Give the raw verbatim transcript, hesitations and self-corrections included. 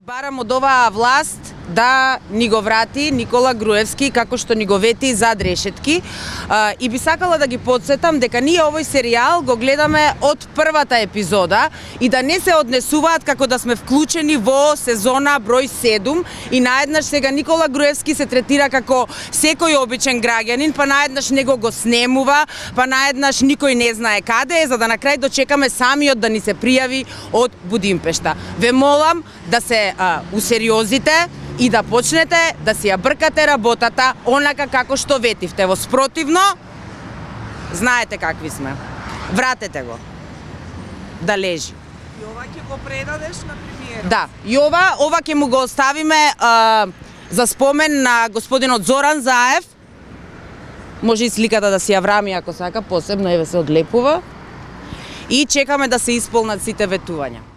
Барам од оваа власт да ни го врати Никола Груевски како што ни го вети зад решетки, и би сакала да ги подсетам дека ние овој серијал го гледаме од првата епизода и да не се однесуваат како да сме вклучени во сезона број седум и наеднаш сега Никола Груевски се третира како секој обичен граѓанин, па наеднаш него го снемува, па наеднаш никој не знае каде е, за да на крај дочекаме самиот да ни се пријави од Будимпешта. Ве молам да се а, усериозите и да почнете да си ја бркате работата онака како што ветивте. Во спротивно, знаете какви сме. Вратете го. Да лежи. И ова ќе го предадеш на премиерот? Да, и ова, ова ќе му го оставиме а, за спомен на господинот Зоран Заев. Може и сликата да си ја врами ако сака, посебно еве се одлепува. И чекаме да се исполнат сите ветувања.